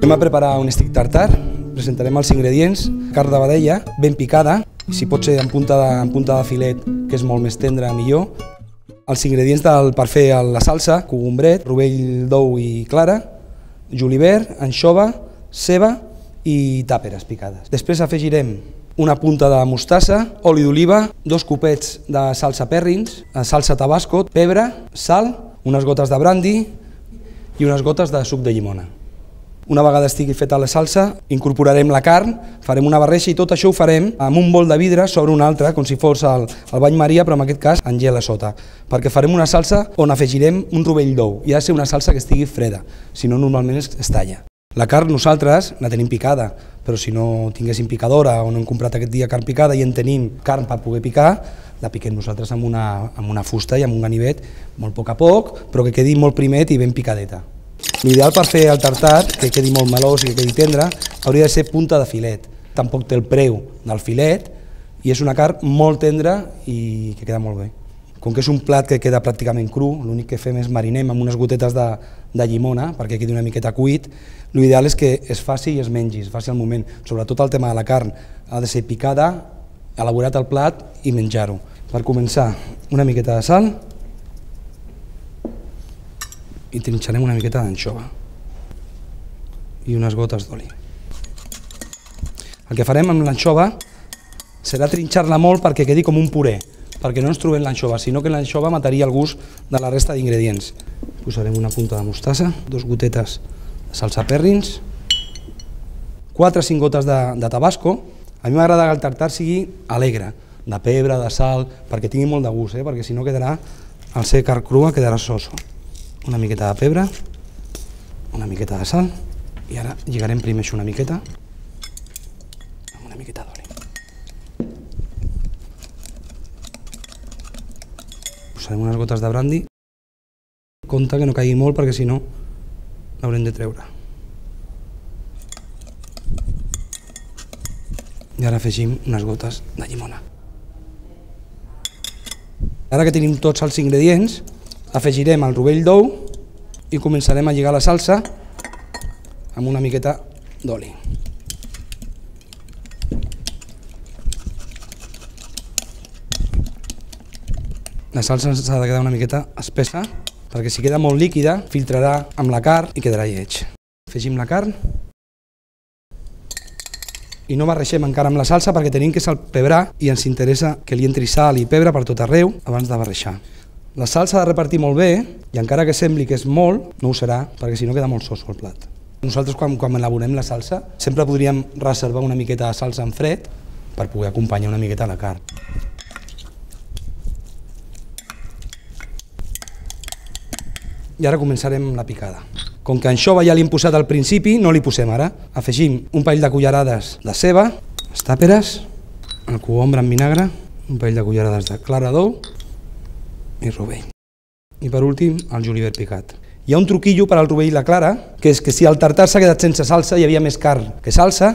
Anem a preparar un steak tartar, presentarem els ingredients, carn de vedella ben picada, si pot ser en punta de filet, que és molt més tendra, millor. Els ingredients per fer la salsa, cogombret, rovell d'ou i clara, julivert, anxova, ceba i tàperes picades. Després afegirem una punta de mostassa, oli d'oliva, 2 copets de salsa Perrins, salsa tabasco, pebre, sal, unes gotes de brandi i unes gotes de suc de llimona. Una vegada estigui feta la salsa, incorporarem la carn, farem una barreja i tot això ho farem amb un bol de vidre sobre un altre, com si fos el bany Maria, però en aquest cas en gel a sota, perquè farem una salsa on afegirem un rovell d'ou i ha de ser una salsa que estigui freda, si no normalment es talla. La carn nosaltres la tenim picada, però si no tinguéssim picadora o no hem comprat aquest dia carn picada i en tenim carn per poder picar, la piquem nosaltres amb una fusta i amb un ganivet molt a poc, però que quedi molt primet i ben picadeta. L'ideal per fer el tartar, que quedi molt melós i que quedi tendre, hauria de ser punta de filet. Tampoc té el preu del filet i és una carn molt tendra i que queda molt bé. Com que és un plat que queda pràcticament cru, l'únic que fem és marinem amb unes gotetes de llimona perquè quedi una miqueta cuit, l'ideal és que es faci i es mengi, es faci al moment. Sobretot el tema de la carn ha de ser picada, elaborat el plat i menjar-ho. Per començar, una miqueta de sal i trinxarem una miqueta d'anxova i unes gotes d'oli. El que farem amb l'anxova serà trinxar-la molt perquè quedi com un puré, perquè no ens trobem l'anxova, sinó que l'anxova mataria el gust de la resta d'ingredients. Posarem una punta de mostassa, 2 gotetes de salsa Perrins, 4 o 5 gotes de tabasco. A mi m'agrada que el tartar sigui alegre, de pebre, de sal, perquè tingui molt de gust, perquè si no quedarà, al ser carn crua quedarà soso. Una miqueta de pebre, una miqueta de sal i ara lligarem primer això una miqueta amb una miqueta d'oli. Posarem unes gotes de brandi. Compte que no caigui molt perquè si no l'haurem de treure. I ara afegim unes gotes de llimona. Ara que tenim tots els ingredients, afegirem el rovell d'ou i començarem a lligar la salsa amb una miqueta d'oli. La salsa s'ha de quedar una miqueta espessa perquè si queda molt líquida filtrarà amb la carn i quedarà lleig. Afegim la carn i no barregem encara amb la salsa perquè tenim que salpebrar i ens interessa que li entri sal i pebre per tot arreu abans de barrejar. La salsa ha de repartir molt bé i encara que sembli que és molt, no ho serà, perquè si no queda molt soso el plat. Nosaltres quan elaborem la salsa sempre podríem reservar una miqueta de salsa en fred per poder acompanyar una miqueta la carn. I ara començarem la picada. Com que anxova ja li hem posat al principi, no li posem ara. Afegim un parell de cullerades de ceba, les tàperes, el cogombre en vinagre, un parell de cullerades de clara d'ou i rovell. I per últim, el julivert picat. Hi ha un truquillo per al rovell i la clara, que és que si el tartar s'ha quedat sense salsa, hi havia més carn que salsa,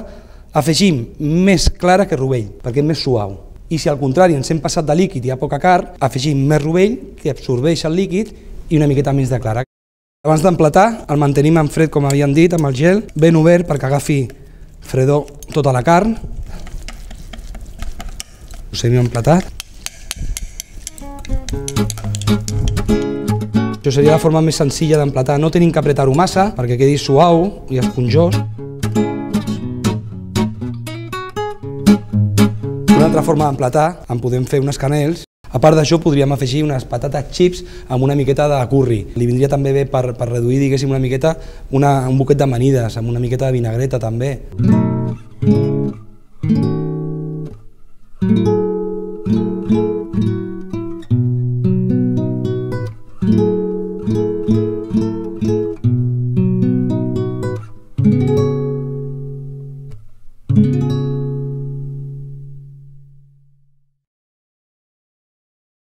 afegim més clara que rovell, perquè és més suau. I si al contrari ens hem passat de líquid i hi ha poca carn, afegim més rovell, que absorbeix el líquid, i una miqueta més de clara. Abans d'emplatar, el mantenim en fred, com havíem dit, amb el gel, ben obert perquè agafi fredor tota la carn. Posem emplatat. Això seria la forma més senzilla d'emplatar. No tenim que apretar-ho massa perquè quedi suau i esponjós. Una altra forma d'emplatar, en podem fer unes canels. A part d'això podríem afegir unes patates chips amb una miqueta de curri. Li vindria també bé per reduir, diguéssim, una miqueta un boquet d'amanides, amb una miqueta de vinagreta també.